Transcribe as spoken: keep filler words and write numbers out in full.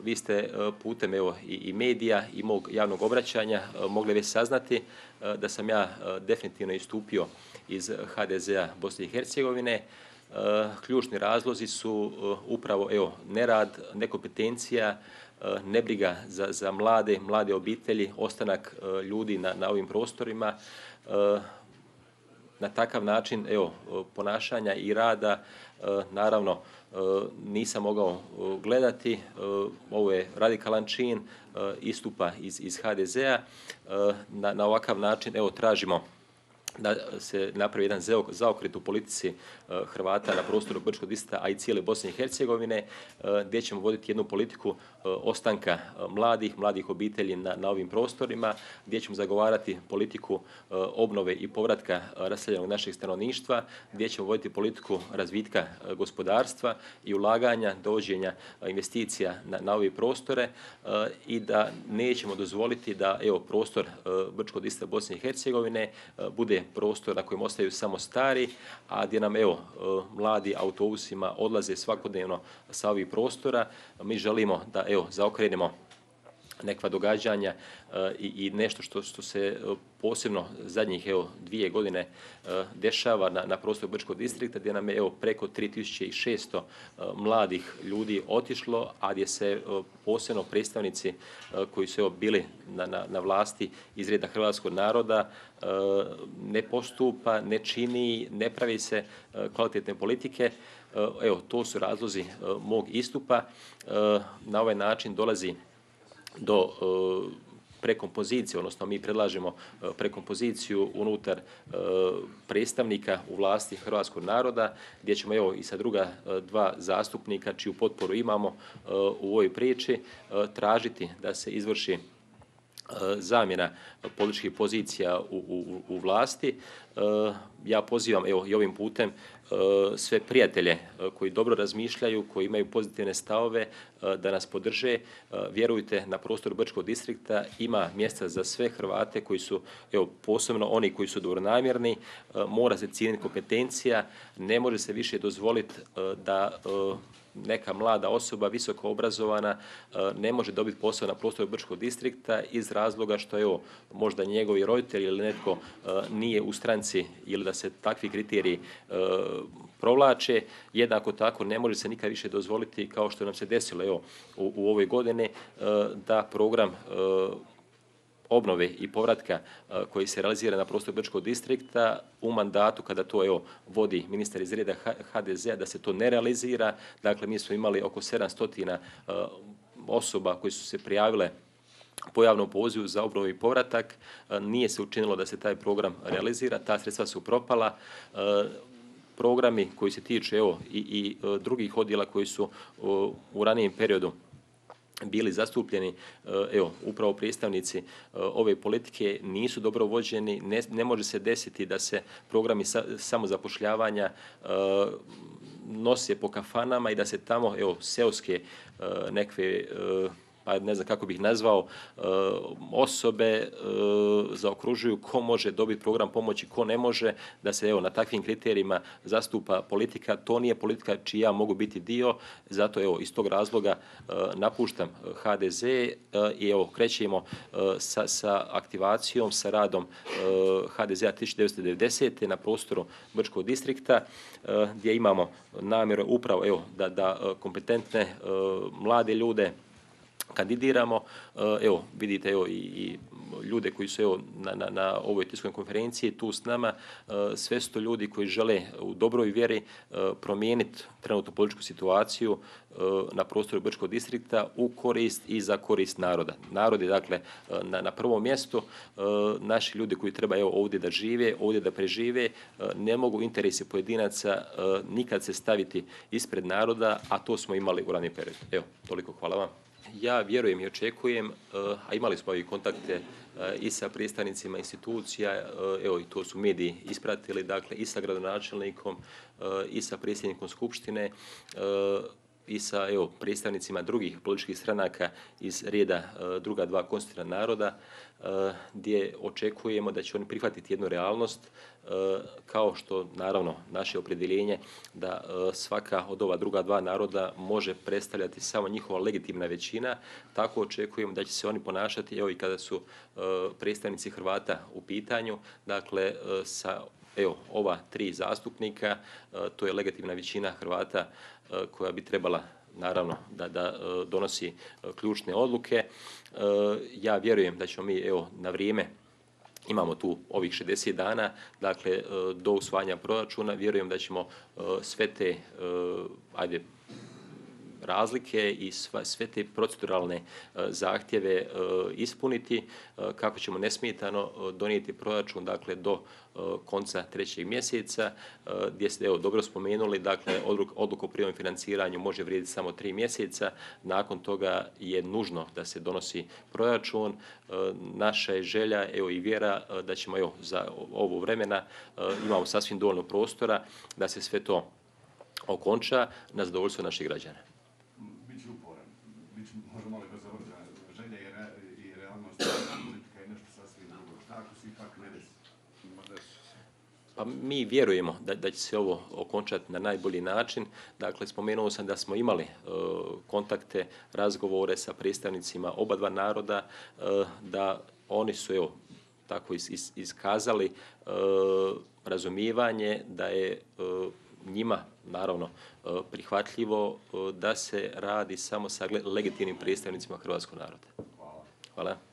vi ste putem evo, i, i medija i mog javnog obraćanja mogli već saznati da sam ja definitivno istupio iz ha de zea Bosne i Hercegovine. Ključni razlozi su upravo evo, nerad, nekompetencija, nebriga za, za mlade, mlade obitelji, ostanak ljudi na, na ovim prostorima. Na takav način evo, ponašanja i rada, naravno, nisam mogao gledati. Ovo je radikalan čin istupa iz, iz ha de zea. Na, na ovakav način evo, tražimo da se napravi jedan zaokret u politici Hrvata na prostoru Brčkog distrikta, a i cijele Bosne i Hercegovine, gdje ćemo voditi jednu politiku ostanka mladih, mladih obitelji na, na ovim prostorima, gdje ćemo zagovarati politiku obnove i povratka raseljenog našeg stanovništva, gdje ćemo voditi politiku razvitka gospodarstva i ulaganja, dovođenja investicija na, na ove prostore i da nećemo dozvoliti da evo, prostor Brčkog distrikta Bosne i Hercegovine bude prostor na kojem ostaju samo stari, a gdje nam evo, mladi autobusima odlaze svakodnevno sa ovih prostora. Mi želimo da evo, zaokrenemo nekva događanja i, i nešto što, što se posebno zadnjih evo, dvije godine dešava na, na prostoru Brčkog distrikta, gdje nam je evo, preko tri tisuće šesto mladih ljudi otišlo, a gdje se posebno predstavnici koji su evo, bili na, na, na vlasti iz reda hrvatskog naroda ne postupa, ne čini, ne pravi se kvalitetne politike. Evo, to su razlozi mog istupa. Na ovaj način dolazi do prekompozicije, odnosno mi predlažemo prekompoziciju unutar predstavnika u vlasti hrvatskog naroda, gdje ćemo evo i sa druga dva zastupnika, čiju potporu imamo u ovoj priči, tražiti da se izvrši zamjena političkih pozicija u, u, u vlasti. Ja pozivam evo, i ovim putem sve prijatelje koji dobro razmišljaju, koji imaju pozitivne stavove, da nas podrže. Vjerujte, na prostoru Brčkog distrikta ima mjesta za sve Hrvate koji su, evo, posebno oni koji su dobronamjerni, mora se cijeniti kompetencija, ne može se više dozvoliti da neka mlada osoba, visoko obrazovana, ne može dobiti posao na prostoru Brčkog distrikta iz razloga što evo, možda njegovi roditelji ili netko nije u stranci ili da se takvi kriteriji provlače. Jednako tako ne može se nikad više dozvoliti, kao što nam se desilo evo, u, u ovoj godini, da program obnove i povratka koji se realizira na prostoru Brčkog distrikta u mandatu kada to evo, vodi ministar iz reda ha de zea, da se to ne realizira. Dakle, mi smo imali oko sedamsto osoba koji su se prijavile po javnom pozivu za obnovu i povratak. Nije se učinilo da se taj program realizira, ta sredstva su propala. Programi koji se tiču evo, i, i drugih odjela koji su u ranijem periodu bili zastupljeni, evo, upravo predstavnici ove politike nisu dobro vođeni. Ne, ne može se desiti da se programi sa, samozapošljavanja nose po kafanama i da se tamo, evo, seoske nekve, pa ne znam kako bih nazvao, osobe zaokružuju ko može dobiti program pomoći, ko ne može, da se evo, na takvim kriterijima zastupa politika. To nije politika čiji ja mogu biti dio, zato evo, iz tog razloga napuštam ha de ze i evo, krećemo sa, sa aktivacijom, sa radom ha de zea tisuće devetsto devedesete. na prostoru Brčkog distrikta, gdje imamo namjeru upravo evo, da, da kompetentne mlade ljude kandidiramo. Evo, vidite evo, i, i ljude koji su evo, na, na, na ovoj tiskovnoj konferenciji tu s nama. Sve su to ljudi koji žele u dobroj vjeri promijeniti trenutnu političku situaciju na prostoru Brčkog distrikta u korist i za korist naroda. Narod je dakle na, na prvom mjestu. Naši ljudi koji treba evo, ovdje da žive, ovdje da prežive, ne mogu interesi pojedinaca nikad se staviti ispred naroda, a to smo imali u ranijem periodu. Evo, toliko, hvala vam. Ja vjerujem i očekujem, a imali smo i kontakte i sa predstavnicima institucija, evo i to su mediji ispratili, dakle i sa gradonačelnikom i sa predsjednikom Skupštine. i sa evo, predstavnicima drugih političkih stranaka iz reda druga dva konstitutivna naroda, gdje očekujemo da će oni prihvatiti jednu realnost, kao što naravno naše opredjeljenje da svaka od ova druga dva naroda može predstavljati samo njihova legitimna većina, tako očekujemo da će se oni ponašati evo i kada su predstavnici Hrvata u pitanju, dakle sa evo ova tri zastupnika, to je legitimna većina Hrvata koja bi trebala naravno da, da donosi ključne odluke. Ja vjerujem da ćemo mi evo na vrijeme, imamo tu ovih šezdeset dana, dakle do usvajanja proračuna, vjerujem da ćemo sve te ajde razlike i sve te proceduralne zahtjeve ispuniti kako ćemo nesmetano donijeti proračun dakle do konca trećeg mjeseca, gdje ste evo dobro spomenuli, dakle odluka o privremenom financiranju može vrijediti samo tri mjeseca, nakon toga je nužno da se donosi proračun. Naša je želja evo i vjera da ćemo evo za ovo vremena, imamo sasvim dovoljno prostora da se sve to okonča na zadovoljstvo naših građana. Možemo li bez obzira, želja i realnost politika je nešto sasvim drugo. Šta ako se ipak ne desi? Pa mi vjerujemo da, da će se ovo okončati na najbolji način. Dakle, spomenuo sam da smo imali uh, kontakte, razgovore sa predstavnicima oba dva naroda, uh, da oni su evo, tako is, is, iskazali uh, razumijevanje da je uh, njima, naravno, prihvatljivo da se radi samo sa legitimnim predstavnicima hrvatskog naroda. Hvala. Hvala.